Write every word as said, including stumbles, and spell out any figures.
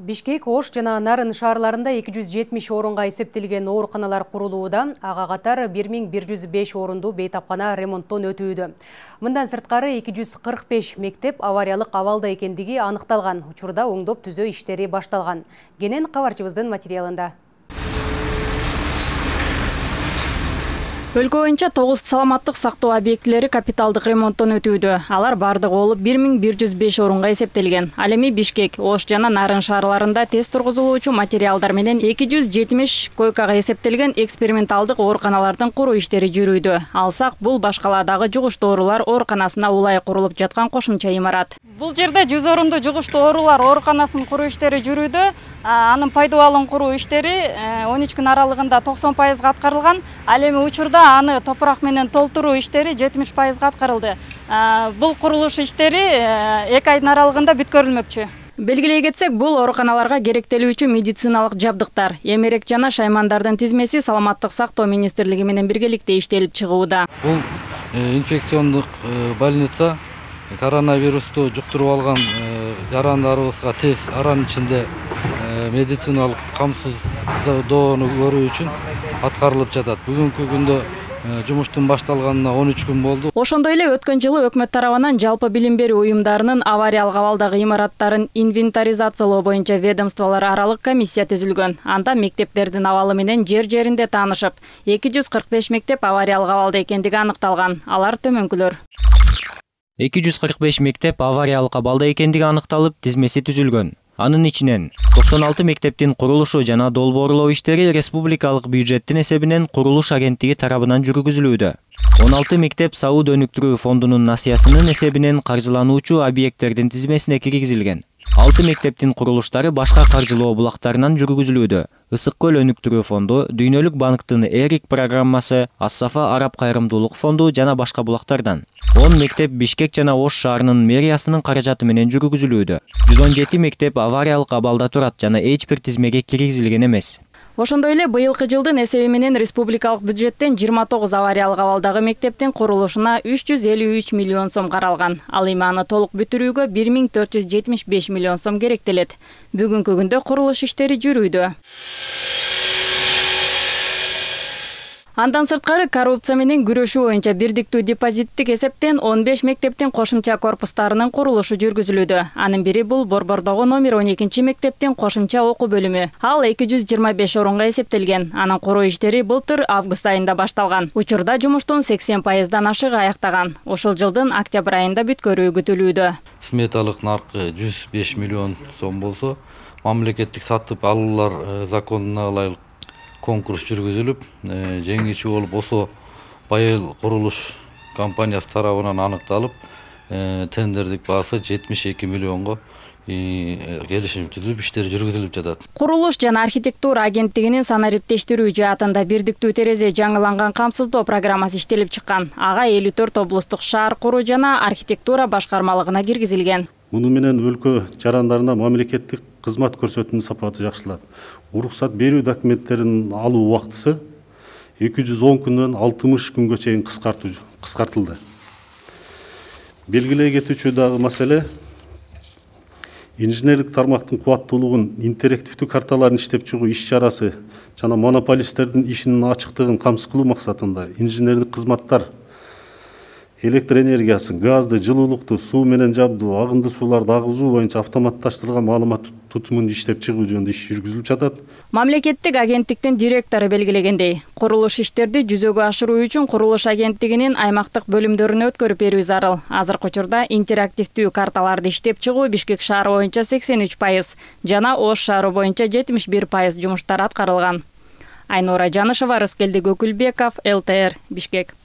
Бишкек, Ош жана Нарын шаарларында эки жүз жетимиш орунга эсептелген ооруканалар курулууда, ага катар бир миң бир жүз беш орунду бейтапкана ремонттон өтүүдө. Мындан сырткары эки жүз кырк беш мектеп авариялык абалда экендиги аныкталган. Учурда оңдоп түзөө иштери башталган. Кенен кабарчыбыздын материалында. Өлкө боюнча тогуз саламаттык сактоо объектилери капиталдык ремонттон өтүүдө. Алар бардыгы болуп бир миң бир жүз беш орунга эсептелген. Ал эми Бишкек, Ош жана Нарын шаарларында тест тургузулуучу материалдар менен эки жүз жетимиш койкага эсептелген эксперименталдык ооруканалардын куруу иштери жүрүүдө. Алсак, бул башкаладагы жугуштуу оорулар ооруканасына улай курулуп жаткан кошумча имарат. Бул жерде жүз орунду жугуштуу оорулар ооруканасын куруу иштери жүрүүдө. Анын пайдубалын куруу иштери он үч күн аралыгында токсон пайызга аткарылган. Ал эми учурда аны топурак менен толтуруу иштери жетимиш пайызга аткарылды. Бул курулуш иштери эки айдын аралыгында бүткөрүлмөкчү. Белгилей кетсек, бул ооруканаларга керектелүүчү медициналык жабдыктар, эмерек жана шаймандардын тизмеси Саламаттык сактоо министрлиги менен биргеликте иштелип чыгууда. Бул инфекциондук больница коронавирусту жуктуруп алган жарандарыбызга тез аранын ичинде медициналык камсыздоону көрүү үчүн аткарылып жатат. Бүгүнкү күндө жумуштун башталганына он үч күн болду. Ошондой эле өткөн жылы өкмөт тарабынан жалпы билим берүү уюмдарынын авариялык абалдагы имараттарын инвентаризациялоо боюнча ведомстволор аралык комиссия түзүлгөн. Анда мектептердин абалы менен жер-жеринде таанышып, эки жүз кырк беш мектеп авариялык абалда экендиги аныкталган. Алар төмөнкүлөр. эки жүз кырк беш мектеп авариялык абалда экендиги аныкталып, тизмеси түзүлгөн. Анын ичинен токсон алты мектептин курулушу жана долбоорлоо иштери республикалык бюджеттин эсебинен курулуш агенттиги тарабынан жүргүзүлүүдө. он алты мектеп Сауд өнүктүрүү фондунун насыясынын эсебинен каржылануучу объекттердин тизмесине киргизилген. алты мектептин курулуштары башка каржылоо булактарынан жүргүзүлүүдө. Ысык көл өнүктүрүү фонду, Дүйнөлүк банктын Эрик программасы, Ас-Сафа араб кайрымдуулук фонду жана башка булактардан. он мектеп Бишкек жана Ош шаарынын мэриясынын каражаты менен жүргүзүлүүдө. жүз он жети мектеп авариялык абалда турат жана эч бир тизмеге киргизилген эмес. Ошондой эле быйылкы жылдын эсеби менен республикалык бюджеттен жыйырма тогуз авариялык абалдагы мектептин курулушуна үч жүз элүү үч миллион сом каралган. Ал эми аны толук бүтүрүүгө бир миң төрт жүз жетимиш беш миллион сом керектелет. Бүгүнкү күндө курулуш иштери жүрүүдө. Андан сырткары коррупция менен күрөшүү боюнча бирдиктүү депозиттик эсептен он беш мектептин кошумча корпустарынын курулушу жүргүзүлүүдө. Анын бири бул Борбордогу номер он экинчи мектептин кошумча окуу бөлүмү. Ал эки жүз жыйырма беш орунга эсептелген. Анын куруу иштери былтыр август айында башталган. Учурда жумуштун сексен пайыздан ашыгы аяктаган. Ушул жылдын октябрь айында бүткөрүү күтүлүүдө. Сметалык наркы жүз беш миллион сом болсо, мамлекеттик сатып алуулар законуна ылайык конкурс жүргүзүлүп, жеңүүчү болуп ошо Байыл курулуш компаниясы тарабынан аныкталып, тендердик баасы жетимиш эки миллионго келишим түзүлүп, иштер жүргүзүлүп жатат. Курулуш жана архитектура агенттигинин санариптештирүү жаатында бирдиктүү терезе жаңыланган камсыздоо программасы иштелип чыккан. Ага элүү төрт облустук шаар куруу жана архитектура башкармалыгына киргизилген. Муну менен өлкө жарандарына мамлекеттик кызмат көрсөтүүнүн сапаты жакшыланат. Уруксат берүү документтерин алуу убактысы эки жүз он күндөн алтымыш күнгө чейин кыскартылды. Белгилей кетүүчү дагы маселе инженерлик тармактын кубаттуулугун, интерактивдүү карталарын иштеп чыгуу иш-чарасы жана монополисттердин ишинин ачыктыгын камсыз кылуу максатында инженердик кызматтар электр энергиясын, газды, жылуулукту, суу менен жабдуу, агынды сууларды агызуу боюнча автоматташтырылган маалымат тутумун иштеп чыгуу жөнүндө иш жүргүзүлүп жатат. Мамлекеттик агенттиктин директору белгилегендей, курулуш иштерди жүзөгө ашыруу үчүн курулуш агенттигинин аймактык бөлүмдөрүнө өткөрүп берүү зарыл. Азыркы учурда интерактивдүү карталарды иштеп чыгуу Бишкек шаары боюнча сексен үч пайыз жана Ош шаары боюнча жетимиш бир пайыз жумуштар аткарылган. Айнура Жанышева, Рыскелди Көкүлбеков, эл тэ эр, Бишкек.